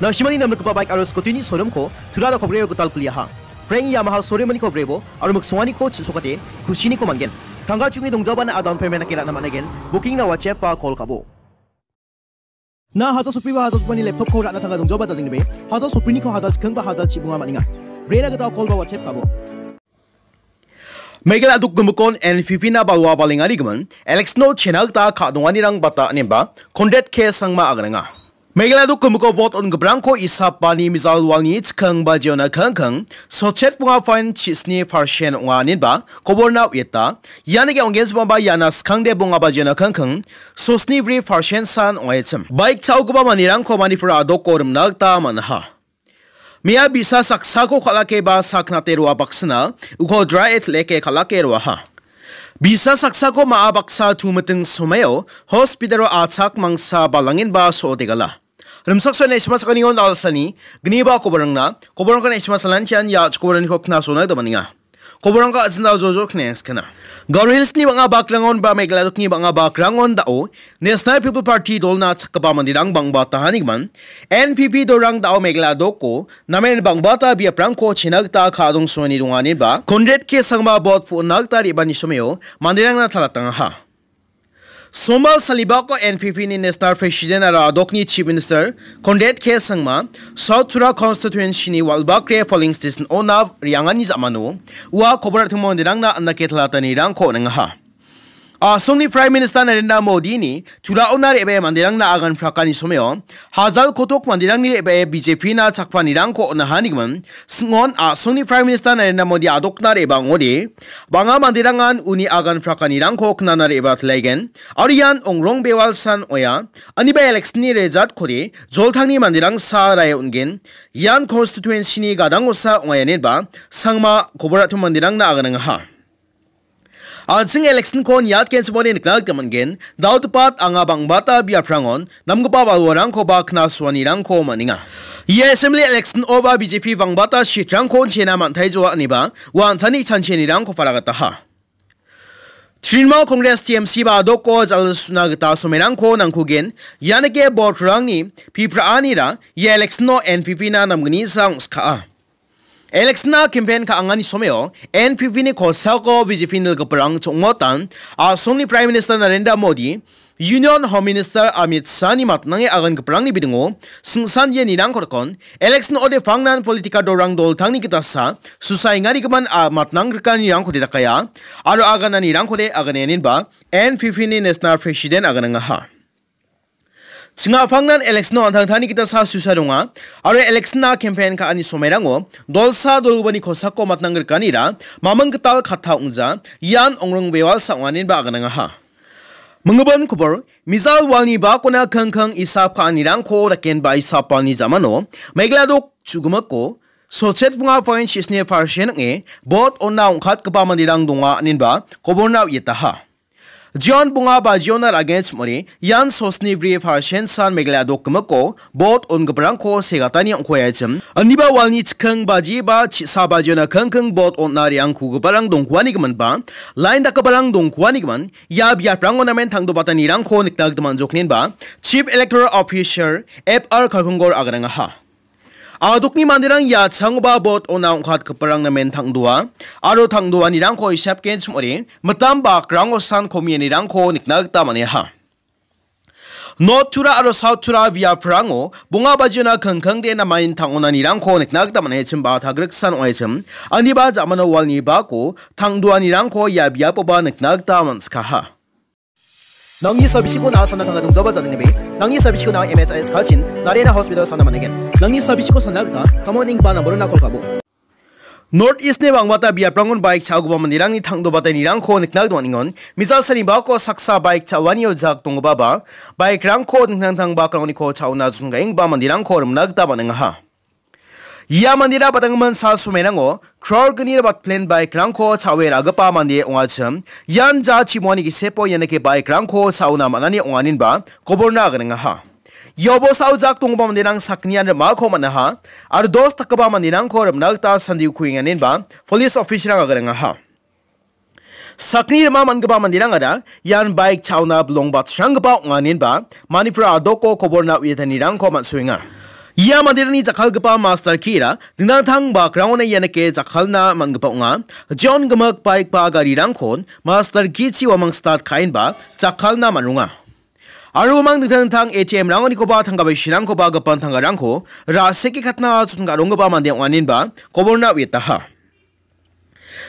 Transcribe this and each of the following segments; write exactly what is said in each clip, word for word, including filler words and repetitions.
Na·simani namrikgipa baik aro scooty-ni showroom-ko Tura Rokobrio gital kuliaha. Frank Yamaha showroom-niko brebo aro miksonganiko chisokate kusiniko man·gen. Tangka chungi dongjabana a down payment-nake ra·na man·aigen. Booking-na WhatsApp-ba call ka·bo. Na haja sopri ba haja sopani laptop-ko ra·na tangka dongjaba jajengnibe. Haja sopriniko haja chikeng ba haja chibunga man·enga. Brena gita call ba WhatsApp ka·bo. Meghalaya dok gimikon N P P-na balwa balengarigimin, election-o chena gita ka·donganirang bata ineba, Conrad K Sangma aganenga. Meghalaya dok gimiko vote on·giparangko isapani mijal walni chikeng bajiona kengkeng, sotchet bunga fine chisni percent ong·a ineba, koborna uieta. Ianike ong·genchimaba iana skangde bunga bajiona kengkeng, sosni bri percent san ong·achim. Baik cha·ogipa manderangko Manipur a·doko rimna gita man·aha. Mia bisa saksako kal·ake ba saknate roa baksana, uko dry et leke kal·ake roaha. Bisa saksako ma·a baksa tumiting someo hospital-o achak mangsa balangenba so·otegala. Rimsak so·e na·sima sakanion alsani, gniba koborangna, koborangko na·sima salantian ia chikoborangni kopna sona gita man·enga. Koborangko a·jinda jojo knengskana. Garo Hills-ni bang·a bakrangon ba Meghalaya dokni bang·a bakrangon da·o National People Party dolna chakgipa manderang bang·bata hanigimin, N P P dolrang da·o Meghalaya doko namen bang·bata biaprangko chena gita ka·dongsoani donganiba Conrad K Sangma bot pu·na gita re·bani someo manderangna talatangaha. Somal salibako N P P-ni National President aro a·dokni Chief Minister Conrad K Sangma, South Tura Constituency-ni Walbakre Polling Station-ona re·angani ja·mano ua kobor a·timo manderangna andake talatanirangko on·engaha. A·songni Prime Minister Narendra Modi-ni Tura-ona re·bae manderangna agan prakani someo, hajal kotok manderangni re·bae B J P-na chakpanirangko on·ahanigimin, singon a·songni Prime Minister Narendra Modi a·dokna re·baa ong·ode, bang·a manderangan uni agan prakanirangko knana re·baa tilaigen, aro ian ongrong bewalsan oia, aniba election-ni result-kode joltangni manderang sa rae on·gen, ian constituency-ni gadangosa ong·a ineba Sangma kobor a·timo manderangna aganangaha. An·ching election-ko niatgenchimode nikna gita man·gen, dal·gipa anga bang·bata biaprangon namgipa balwarangkoba knasuanirangko man·enga. Ia assembly election-oba B J P bang·bata seat-rangko chena man·taijoa ineba ua an·tangni chanchianirangko paragataha. Trinamool Congress T M C ba a·doko jal·suna gita somerangko nangkugen, ianike vote-rangni pipraanira ia election-o N P P-na namgnisa ong·skaa. Election-na campaign ka·angani someo N P P-ni kosako B J P nilgiparang chongotan a·songni Prime Minister Narendra Modi, Union Home Minister Amit Shah-ni matnange agangiparangni bidingo singsan ianirangko rikon, election ode pangnan political dolrang doltangni gitasa susaengarigimin a matnang grikanirangkode dakaia, aro agananirangkode aganaenenba N P P-ni National President aganangaha. Chingapangnan election-o an·tangtangni gita sa susa donga, aro election-na campaign ka·ani somerango dolsa dolgubani kosako matnang grikanira maming gital katta ong·ja, ian ongrong bewalsa ong·anenba aganangaha. Minggipin kobor, mijal walni bakona kangkang isap ka·anirangko dakenba isapani jamano, Meghalaya dok chu·gimiko, sotchet bunga point sisni percent ong·e, vote on·na ong·katgipa manderang donga, inenba koborna uietaha. Jion bunga ba jiona ra·genchim ong·ode, ian sosni bri percent san Meghalaya dok gimiko vote on·giparangko segatani ong·kuaia chim. Aniba walni chikking baji ba chi-, sa bajiona kingking vote on·na re·angkugiparang dongkuanigiminba, line dakgiparang dongkuanigimin, ia biaprango namen tangdobatanirangko nikna gita man·joknenba, Chief Electoral Officer F R Kalkungor aganangaha. A·dokni manderang ia changoba vote on·na ong·katgiparang namen tangdoa, aro tangdoanirangko isapgenchim ong·ode, mitam bakrango san komianirangko nikna gita man·aha. North Tura aro South Tura biaprango bonga bajiona kingkingde namain tang·onanirangko nikna gita man·achim ba tagriksan ong·achim, aniba ja·mano walni bako tangdoanirangko ia biapoba nikna gita man·sikaha. Nangni sabisiko na·a sana tangka dongjaba jajengnibe, nangni sabisiko na·a M H I S kachin, Narena Hospital sana man·aigen. Nangni sabisiko sana gita, kamon ing ba namborona call ka·bo. North East-ni bang·bata biaprangon baik cha·ogipa manderangni tangdobatanirangko nikna gita man·engon. Mijal sani bako saksa baik cha·oanio jak donggipaba, baikrangko dingtang dingtang bakrangko cha·ona jonggaenggipa manderangko rimna gita man·engaha. Ia mandera badanggimin sal somerango crore gni bat plan baikrangko cha·oe ra·gipa mande ong·achim. Ian ja chimonani gisepo ianike baikrangko cha·ona man·ani ong·aninba koborna aganengaha. Ia bosao jak donggipa manderang sakgnian rim·ako man·aha, aro dos dakgipa manderangko rim·na gita sandiko kuenganinba police officer-rang aganengaha. Sakgni rima man·gipa manderangara ian baik cha·ona bilong batsranggipa ong·aninba Manipur a·doko koborna uiatanirangko man·soenga. Ia manderangni jakkalgipa master key-ra dingtang dingtang bakrangona ianike jakkalna man·gipa ong·a. Jeon gimik baik ba garirangkon master key-chi uamang start ka·enba jakkalna man·ronga. Aro uamang dingtang dingtang A T M-rangonikoba tangka baisirangkoba gipin tangkarangko ra·seke katna chotna ka·ronggipa mande ong·aninba koborna uiataha.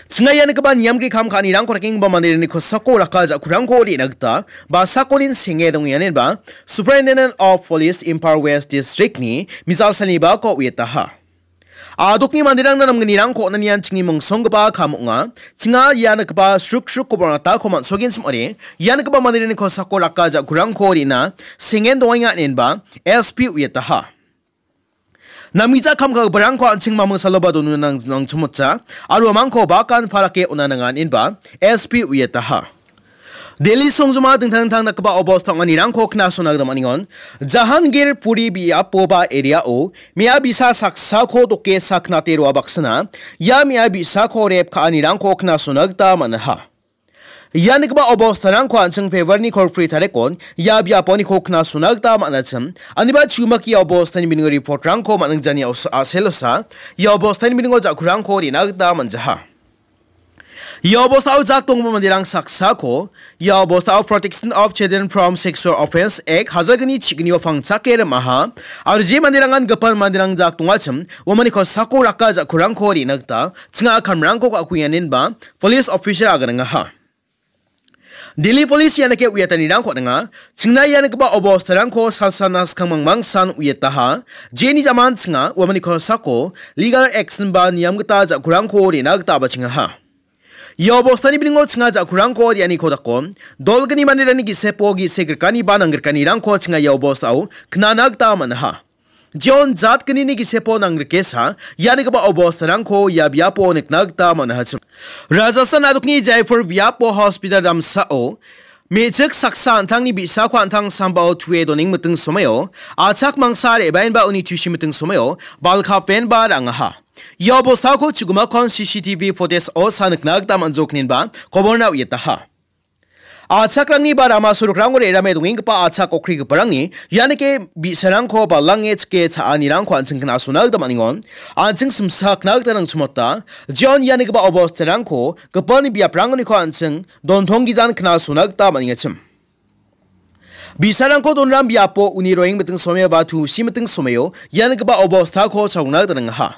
Chinga ia nikgipa niamgri kam ka·anirangko dakenggipa manderangni kosako raka ja·kurangko re·na gita basakonin senge dongenganinba Superintendent of Police Imphal West District-ni mijalsalni bako uiataha. Adokni manderangna namgnirangko on·anian chingni mongsonggipa kam ong·a. Chinga ia nikgipa sruk sruk koborna tako man·sogenchim ong·ode, ia nikgipa manderangni kosako raka ja·kurangko re·na sengen dongenga inenba S P uiataha. Namgija kam ka·giparangko an·ching maming saloba donuna nang-, nangchimotja, aro uamangko bakan parake on·a nangan inba S P uiataha. Delhi songjoma dingtang dingtang dakgipa obosta ong·anirangko knasona gita man·engon. Jahangir Puri biapo ba area-o me·a bi·sa saksako doke saknate roa baksana, ia me·a bi·sako rep ka·anirangko knasona gita man·aha. Ia nikgipa obostarangko an·ching February-ni kolgri tarikon ia biaponiko knasona gita man·achim. Aniba chumak ia obostani biningo report-rangko man·ingjani os-, a·selosa ia obostani biningo ja·kurangko re·na gita man·jaha. Ia obostao jak donggipa manderang saksako ia obostao Protection of Children from Sexual Offence Act hajalgni chignio pangchake rimaha. Aro je manderangan gipin manderang jak dongachim, uamani kosako raka ja·kurangko re·na gita chinga kamrangko ka·kuenganinba police officer aganangaha. Delhi Police ianike uiatanirangko on·enga. Chingna ia nikgipa obostarangko salsana skang mangmangsan uiataha. Jeni jaman chinga uamani kosako legal action ba niam gita ja·kurangko re·na gita bachengaha. Ia obostani biningo chinga ja·kurangko re·aniko dako, dolgni manderangni gisepo gisik rikani ba nang·grikanirangko chinga ia obostao knana gita man·aha. Jeon jatgnini gisepo nangrikesa, ia nikgipa obostarangko ia biapo nikna gita man·aha. Rajasthan adokni Jaipur biapo hospital damsao me·chik saksa an·tangni bi·sako an·tang sambao tue doneng miting somaio, achak mangsa re·baenba uni tusi miting somaio balkapenba ra·angaha. Ia obostako chugimakon C C T V footage-o sa nikna gita man·jokninba koborna uiataha. Achakrangni ba rama sorokrango re·rame dongenggipa achak okrigiparangni ianike bi·sarangko balange chike cha·anirangko an·ching knasona gita man·engon. An·ching simsakna gita nangchimota. Jeon ia nikgipa obostarangko gipin biaprangoniko an·ching dontonggijan knasona gita man·engachim. Bi·sarangko donram biapo uni roeng miting someo ba tusi miting someo ia nikgipa obostako chalona gita nangaha.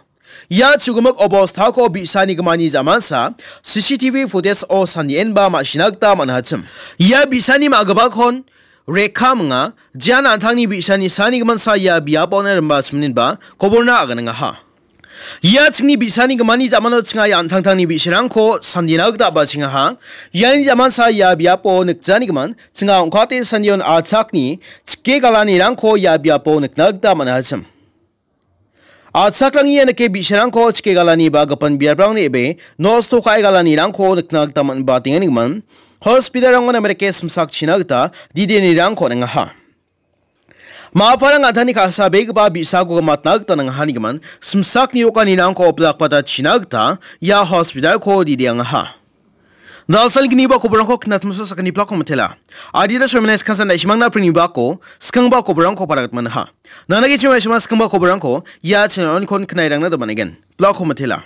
Ia chugimik obostako bi·sani gimani jamansa C C T V footage-o sandienba ma·sina gita man·achim. Ia bi·sani ma·gipakon Rekha minga, jean an·tangni bi·sani sani gimansa ia biapo on·a rimba chiminba koborna aganangaha. Ia chingni bi·sani gimani jamano chinga ia an·tangtangni bi·sarangko sandina gita bachengaha. Iani jamansa ia biapo nikjani giman chinga ong·kate sandion achakni chike galanirangko ia biapo nikna gita man·achim. Achakrangni ianike bi·sarangko chike galani ba gipin biaprangni ebe nosto ka·e galanirangko nikna gita man·, batenganigimin hospital-rangon Amerike simsakchina gita didenirangko on·engaha. Ma·aparang an·tangni ka·sabegipa bi·sako gimatna gita nangahanigimin simsakni rokanirangko oplakpata china gita ia hospital-ko dideangaha. Dalsalginiba koborangko knatmasa sakgni plak komitela. Adita soimane skansan daishimangna prinibako skangba koborangko paragat manaha. Nanagi chima ishima skangba koborangko ia channel-onikon knairangna domanegen. Plak komitela.